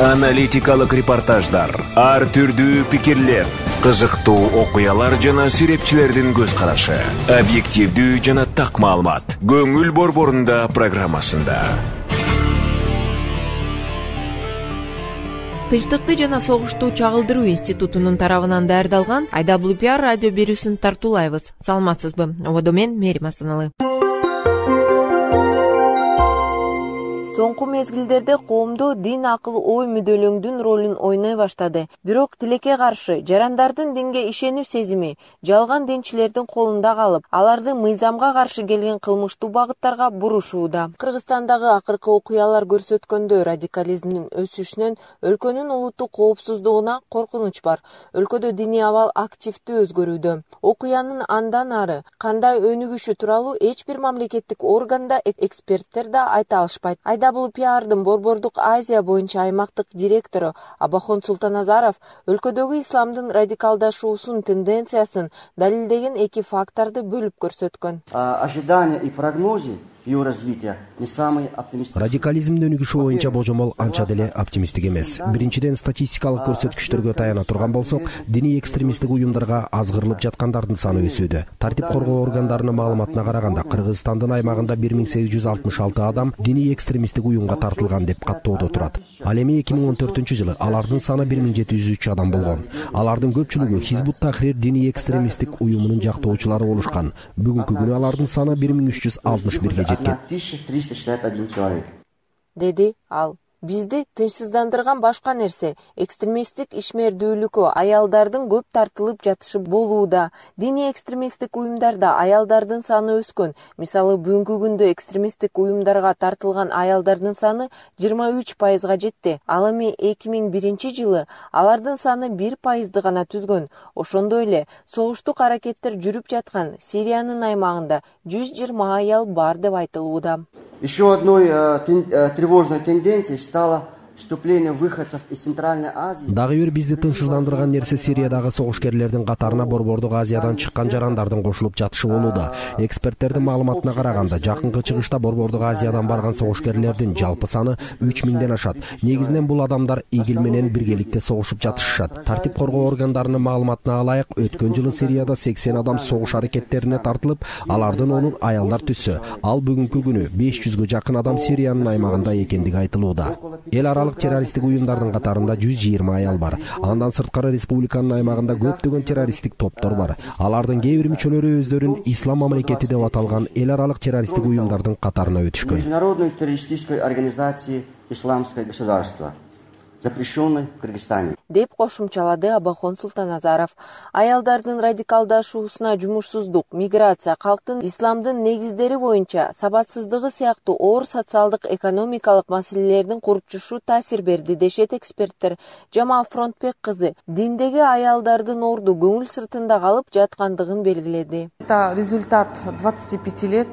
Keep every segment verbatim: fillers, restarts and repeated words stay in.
Аналитикалык репортаждар, ар түрдүү пикирлер, кызыктуу окуялар жана сүрөтчүлөрдүн көз карашы, объективдүү жана так маалымат. Көңүл борборунда программасында. Тынчтыкты жана согушту чагылдыруу институтунун тарабынан даярдалган ай дабл ю пи ар радио берүүсүн тартуулайбыз. Саламатсызбы? Ободо мен Мерим Асаналы. Соңку мезгилдерде коомдо дин, акыл, ой мүдөлөңдүн ролун ойной баштады. Бирок тилекке каршы жарандардын динге ишенүү сезими жалган динчилердин колунда калып, аларды мыйзамга каршы келген кылмыштуу багыттарга бурушууда. Кыргызстандагы акыркы окуялар көрсөткөндөй, радикализмдин өсүшүнөн өлкөнүн улуттук коопсуздугуна коркунуч бар. Өлкөдө диний абал активдүү өзгөрүүдө. Окуянын андан ары кандай өнүгүшү тууралуу эч бир мамлекеттик органда эксперттер да айта алышпайт. ай дабл ю пи ардын Борбордук Азия боюнча аймактык директору Абахон Султаназаров өлкөдөгү исламдын радикалдашуусунун тенденциясын далилдеген эки факторду бөлүп көрсөткөн. Ожидания и прогнозы ее развития не самый оптимистичный. Радикализмдин өнүгүшү боюнча божомол анча деле оптимисттик эмес. Биринчиден, статистикалык көрсөткүчтөргө таяна турган болсок, диний экстремисттик уюмдарга азгырылып жаткандардын саны өсүүдө. Тартип коргоо органдарынын маалыматына караганда, Кыргызстандын аймагында бир миң сегиз жүз алтымыш алты адам диний экстремисттик уюмга тартылган деп каттоодо турат. Ал эми эки миң он төртүнчү жылы алардын саны бир миң жети жүз үч адам болгон. Алардын көпчүлүгү Хизбут Тахрир диний экстремисттик уюмунун жактоочулары болушкан. Бүгүнкү күнү алардын саны бир миң үч жүз алтымыш бирге тысяча триста шестьдесят один человек. Деди ал. Бизди тынчсыздандырган башка нерсе экстремисттик ишмердүүлүккө аялдардын көп тартылып жатышы болууда. Диний экстремисттик уюмдарда аялдардын саны өскөн. Мисалы, бүгүнкү күндө экстремисттик уюмдарга тартылган аялдардын саны жыйырма үч пайызга жетти. Ал эми эки миң биринчи жылы алардын саны бир пайызды гана түзгөн. Ошондой эле согуштук аракеттер жүрүп жаткан Сириянын аймагында жүз жыйырма аял бар деп айтылууда. Еще одной э, тен, э, тревожной тенденцией стало вступление выходцев из Центральной Азии. Дагы бир бизди тынчсыздандырган нерсе Сириядагы согушкерлердин катарына Борбордук Азиядан чыккан жарандардын кошулуп жатышы болууда. Эксперттердин маалыматына караганда, жакынкы чыгышта Борбордук Азиядан барган согушкерлердин жалпы саны үч миңден ашат. Негизинен бул адамдар ИГИЛ менен биргеликте согушуп жатышышат. Тартип коргоо органдарынын маалыматына алайык, өткөн жылы Сирияда сексен адам согуш аракеттерине тартылып, алардын онун аялдар түссө. Ал бүгүнкү күнү беш жүзгө жакын адам Сириянын аймагында экендиги айтылууда. Эл аралык террористтик уюмдардын катарында жүз жыйырма аял бар. Андан сырткары республиканын аймагында көптөгөн террористтик топтор бар. Алардын кээ бир мүчөлөрү өздөрүн ислам мамлекети деп аталган эл аралык террористтик уюмдардын катарына өтүшкөн. Международной террористической организации Исламское государство, запрещенной в Кыргызстане, деп кошумчалады Абахон Султаназаров. Аялдардын радикалдашуусуна жумушсуздук, миграция, калктын исламдын негиздери боюнча сабатсыздыгы сыяктуу оор социалдык экономикалык маселелердин курчушу таасир берди дешет эксперттер. Жамал Фронтбек кызы диндеги аялдардын орду көңүл сыртында калып жаткандыгын белгиледи. Это результат двадцати пяти лет,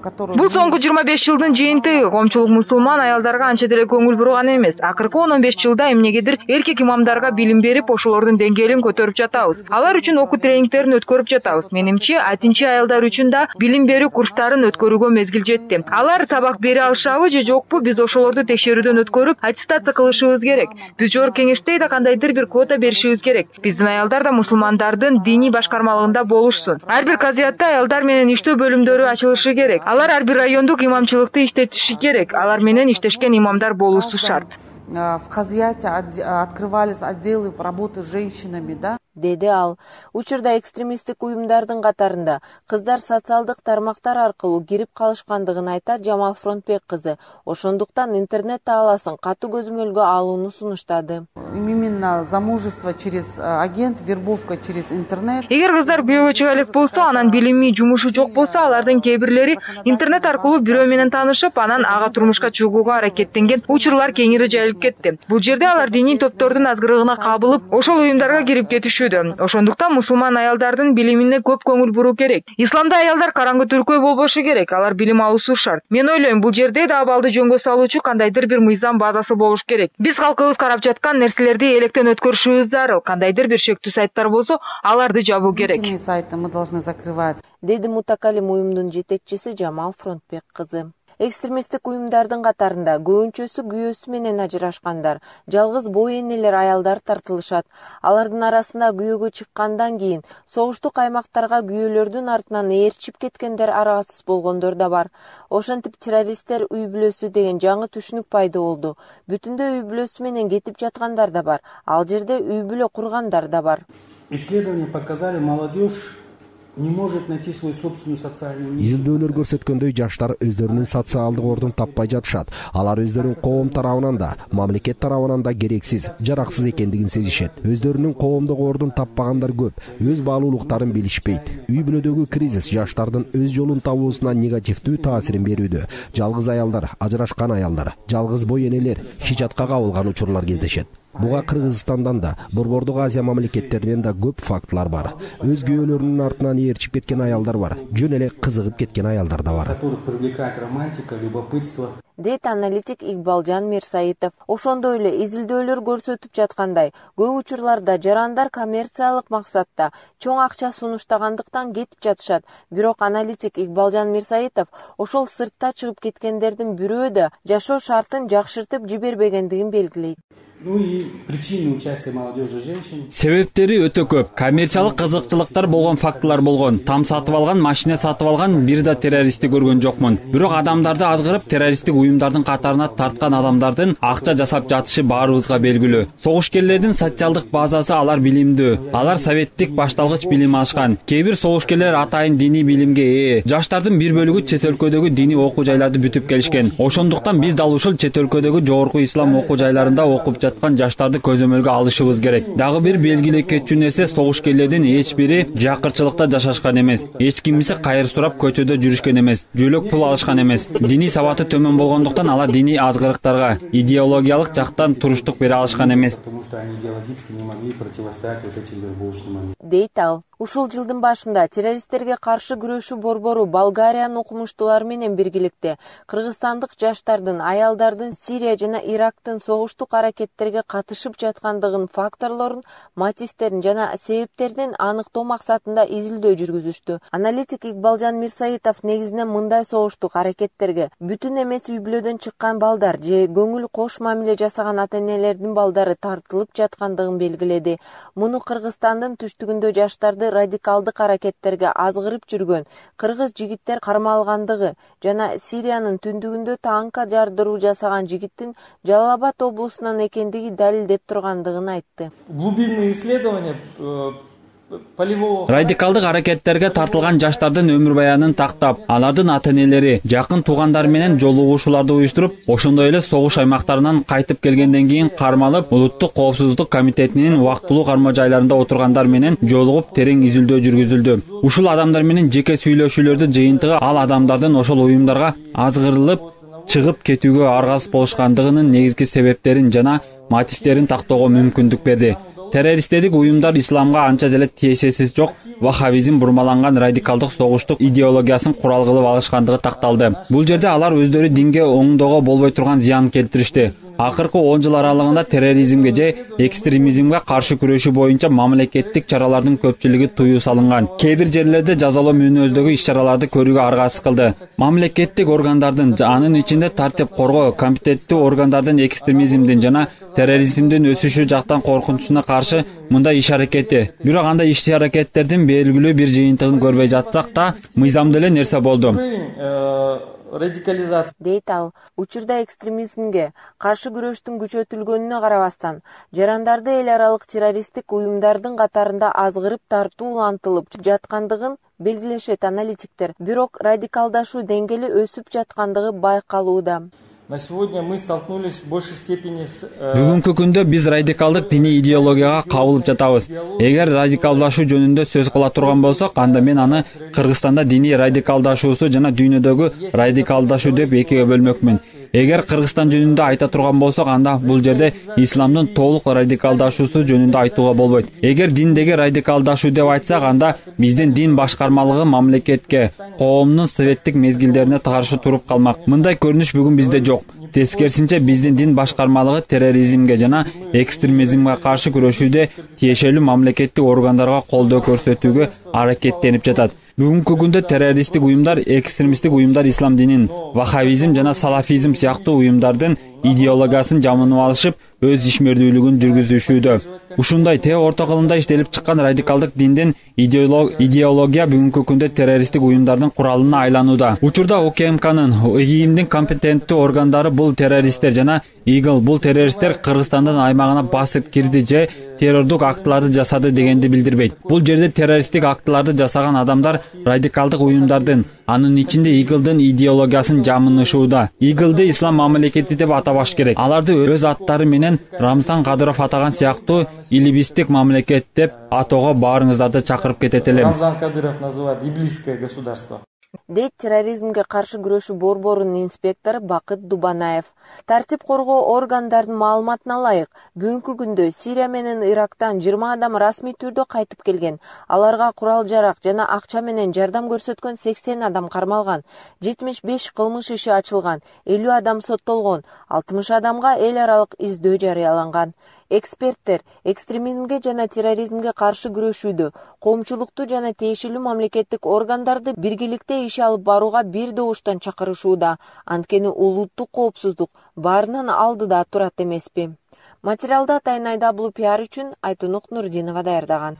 который... Бул соңку жыйырма беш жылдын жыйынтыгы. Коомчулук мусулман аялдарга анча деле көңүл бурган эмес. Акыркы он он беш жылда эмнегедир эркек имамдарга билим берип, ошолордун деңгээлин көтөрүп жатабыз. Алар үчүн окуу тренингтерин өткөрүп жатабыз. Менимче, айтынчы аялдар үчүн да билим берүү курстарын өткөрүүгө мезгил жетти. Алар сабак бере алышабы же жокпу, биз ошолорду текшерүүдөн өткөрүп, аттестация кылышыбыз керек. Биз жогорку кеңеште да кандайдыр бир квота беришибиз керек. Биздин аялдар да мусулмандардын диний башкармалыгында болушсун. Ар бир казиятта аялдар менен иштөө бөлүмдөрү ачылышы керек. Алар ар бир райондук имамчылыкты иштетиши керек. Алар менен иштешкен имамдар болуусу шарт. В Казияте открывались отделы работы с женщинами, да? Деди ал. Учурда экстремисттик уюмдардын катарында кыздар социалдык тармактар аркылуу кирип калышкандыгын айтат Жамал Фронтбек кызы. Ошондуктан интернет тааласын катуу көзөмөлгө алууну сунуштады. Именно замужество через агент, вербовка через интернет. Эгер кыздар күйөөгө чыга элек болсо, анан билими, жумушу жок болсо, алардын кээ бирлери интернет аркылуу бирөө менен таанышып, анан ага турмушка чыгууга аракеттенген учурлар кеңири жайылып кетти. Бул жерде алар диний топтордун азгырыгына кабылып, ошол уюмдарга кирип кетишүүдө. Ошондуктан мусулман аялдардын билимине көп көңүл буруу керек. Исламда аялдар караңгы түркөй болбошу керек, алар билим алуусу шарт. Мен ойлойм, бул жерде да абалды жөнгө салуучу кандайдыр бир мыйзам базасы болуш керек. Биз калкыбыз карап жаткан нерселерди электен өткөрүшүбүз зарыл. Кандайдыр бир шектүү сайттар болсо, аларды жабуу керек. Сайты мы должны закрывать. Деди мутакалим уюмдун жетекчиси Жамал Фронтбек кызы. Экстремисттик уюмдардын катарында көбүнчөсү күйөөсү менен ажырашкандар, жалгыз бой энелер аялдар тартылышат. Алардын арасында күйөөгө чыккандан кийин согуштук аймактарга күйөөлөрдүн артынан ээрчип кеткендер аргасыз болгондор да бар. Ошентип террористтер үй бүлөсү деген жаңы түшүнүк пайда болду. Бүтүндөй үй бүлөсү менен кетип жаткандар да бар. Ал жерде үй бүлө кургандар да бар. Исследования показали, молодежь не может найти свою собственную социальную миссию. Изилдөөлөр көрсөткөндөй, жаштар өздөрүнүн социалдык ордун таппай жатышат. Алар өздөрүн коом тарабынан да, мамлекет тарабынан да керексиз, жараксыз экендигин сезишет. Өздөрүнүн коомдук ордун таппагандар көп, өз баалуулуктарын билишпейт. Үй бүлөдөгү кризис жаштардын өз жолун табуусуна негативдүү таасирин берүүдө. Жалгыз аялдар, ажырашкан аялдар, жалгыз бой энелер хижатка кабылган учурлар кездешет. Буга Кыргызстандан да, Борбордук Азия мамлекеттеринен да көп фактылар бар. Өз күйөөлөрүнүн артынан ээрчип кеткен аялдар бар. Жөн эле кызыгып кеткен аялдар да бар. Дейт аналитик Игбалжан Мирсаитов. Ошондой эле изилдөөлөр көрсөтүп жаткандай, көп учурларда жарандар коммерциялык максатта чоң акча сунуштагандыктан кетип жатышат. Бирок аналитик Игбалжан Мирсаитов ошол сыртта чыгып кеткендердин бирөө да жашоо шартын жакшыртып жибербегендигин белгилейт. Ну и причины участия молодежи женщин. Себептери өтө көп. Коммерциялык кызыкчылыктар болгон фактылар болгон. Там сатып алган, машина сатып алган, бир да террористти көргөн жокмун. Бирок адамдарды азгырып, террористтик уюмдардын катарына тарткан адамдардын акча жасап жатышы баарыбызга белгилүү. Согушкерлердин социалдык базасы алар билимдүү. Алар советтик башталгыч билим алышкан. Кээ бир согушкерлер атайын диний билимге ээ. Жаштардын бир бөлүгү чет өлкөдөгү диний окуу жайларды бүтүп келишкен. Ошондуктан биз дал ушул чет өлкөдөгү жогорку ислам окуу жайларында окуп жаткан жаштарды көзөмөлгө алышыбыз керек. Дагы бир белгилей кетчү нерсе, согушкерлердин эч бири жакырчылыкта жашашкан эмес. Эч кимиси кайыр сурап көчөдө жүрүшкөн эмес. Жөлөк пул алышкан эмес. Диний сабаты төмөн болгондуктан алар диний азгырыктарга, идеологиялык жактан туруштук бере алышкан эмес. Дейт ал. Ушул жылдын башында террористтерге каршы күрөшүү борбору Болгариянын окумуштуулары менен биргеликте кыргызстандык жаштардын, аялдардын Сирия жана Ирактын согуштук аракеттерге катышып жаткандыгын факторлорун, мотивтерин жана себептерин аныктоо максатында изилдөө жүргүзүштү. Аналитик Игбалжан Мирсаитов негизинен мындай согуштук аракеттерге бүтүн эмес үй бүлөдөн чыккан балдар же көңүл кош мамиле жасаган ата-энелердин балдары тартылып жаткандыгын белгиледи. Муну Кыргызстандын түштүгүндө жаштарды радикалдык аракеттерге азгырып жүргөн кыргыз жигиттер кармалгандыгы жана Сириянын түндүгүндө танка жардыруу жасаган жигиттин Жалал Абад облусунан экендиги далилдеп тургандыгын айтты. Глубинные исследования Радикалдык аракеттерге тартылган жаштардын өмүр баянын тактап, алардын ата-энелери, жакын туугандары менен жолугушууларды уюштуруп, ошондой эле согуш аймактарынан кайтып келгенден кийин кармалып, Улуттук коопсуздук комитетинин убактылуу карма жайларында отургандар менен жолугуп терең изилдөө жүргүзүлдү. Ушул адамдар менен жеке сүйлөшүүлөрдүн жыйынтыгы ал адамдардын ошол уюмдарга азгырылып чыгып кетүүгө аргасыз болушкандыгынын негизги себептерин жана мотивтерин тактоого мүмкүндүк берди. Террористтик уюмдар исламга анча деле тиешеси жок ваххабизм бурмаланган радикалдык согуштук идеологиясын курал кылып алышкандыгы такталды. Бул жерде алар өздөрү динге оңдоого болбой турган зыян келтиришти. Акыркы он жыл аралыгында терроризмге же экстремизмге каршы күрөшүү боюнча мамлекеттик чаралардын көпчүлүгү тыюу салынган. Кээ бир жерлерде жазалоо мүнөздөгү иш-чараларды көрүүгө аргасыз кылды. Мамлекеттик органдардын, анын ичинде тартип коргоо, компетенттүү органдардын экстремизмдин жана терроризмдин өсүшү жактан коркунучуна каршы мындай иш-аракети. Бирок андай иш-аракеттердин белгилүү бир жыйынтыгын көрбөй жатсак да, мыйзамдуу эле нерсе болду. Радикализация. Дейт ал. Учурда экстремизмге каршы күрөштүн күчөтүлгөнүнө карабастан, жарандарды эл аралык террористтик уюмдардын катарында азгырып тартуу улантылып жаткандыгын белгилешет аналитиктер. Бирок радикалдашуу деңгээли өсүп жаткандыгы байкалууда. На сегодня мы столкнулись в большей степени с... Бүгүнкү күндө биз радикалдык диний идеологияга кабылып жатабыз. Эгер радикалдашуу жөнүндө сөз кыла турган болсок, анда мен аны Кыргызстанда диний радикалдашуусу жана дүйнөдөгү радикалдашуу деп экиге бөлмөкмүн. Эгер Кыргызстан жөнүндө айта турган болсок, анда бул жерде исламдын толук радикалдашуусу жөнүндө айтууга болбойт. Эгер диндеги радикалдашуу деп айтсак, анда биздин дин башкармалыгы мамлекетке, коомдун советтик мезгилдерине каршы туруп калмак. Мындай көрүнүш бүгүн бизде жок. Тескерисинче биздин дин башкармалыгы терроризмге жана экстремизмге каршы күрөшүүдө тиешелүү мамлекеттик органдарга колдоо көрсөтүүгө аракеттенип жатат. Бүгүнкү күндө террористтик уюмдар, экстремисттик уюмдар ислам динин, ваххабизм жана салафизм сыяктуу уюмдардын идеологиясын жамынып алышып, өз ишмердүүлүгүн жүргүзүшүүдө. Ушундай те орто кылымда иштелип чыккан радикалдык диндин идеология бүгүнкү күндө террористтик уюмдардын куралына айланууда. Учурда УКМКнын, ИГИЛдин компетенттүү органдары бул террористтер жана ИГИЛ бул террористтер Кыргызстандын аймагына басып кирди же террордук актыларды жасады дегенди билдирбейт. Бул жерде террористтик актыларды жасаган адамдар радикалдык уюмдардын, анын ичинде ИГИЛдин идеологиясын жамынышууда. ИГИЛди ислам мамлекети деп атабаш керек. Аларды өз аттары менен Рамзан Кадыров атаган сыяктуу илибистик мамлекет деп атоого баарыңыздарды чакырып кетет элем. Рамзан Кадыров называет иблисское государство. Дейт терроризмге каршы күрөшүү борборунун инспектору Бакыт Дубанаев. Тартип коргоо органдарынын маалыматына ылайык, бүгүнкү күндө Сирия менен Ирактан жыйырма адам расмий түрдө кайтып келген. Аларга курал-жарак жана акча менен жардам көрсөткөн сексен адам кармалган. жетимиш беш кылмыш иши ачылган, элүү адам соттолгон, алтымыш адамга эл аралык издөө жарыяланган. Эксперттер экстремизмге жана терроризмге каршы күрөшүүдө коомчулукту жана тиешелүү мамлекеттик органдарды биргеликте иш алып барууга бир добуштан чакырышууда. Анткени улуттук коопсуздук баарынан алдыда турат эмеспи. Материалды атайын айдаблупиар үчүн Айтунук Нурдинова даярдаган.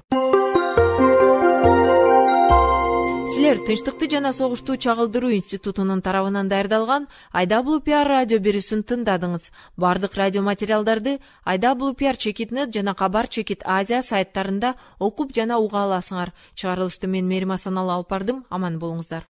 Силер Тынчтыкты жана согушту чагылдыруу институтунун тарабынан даярдалган айдаблупиар радио берүүсүн тыңдадыңыз. Бардык радио материалдарды айдаблупиар чекит нет жана Кабар чекит Азия сайттарында окуп жана уга аласыңар. Чыгарылышты мен Мерим Асаналы алып бардым. Аман болуңуздар.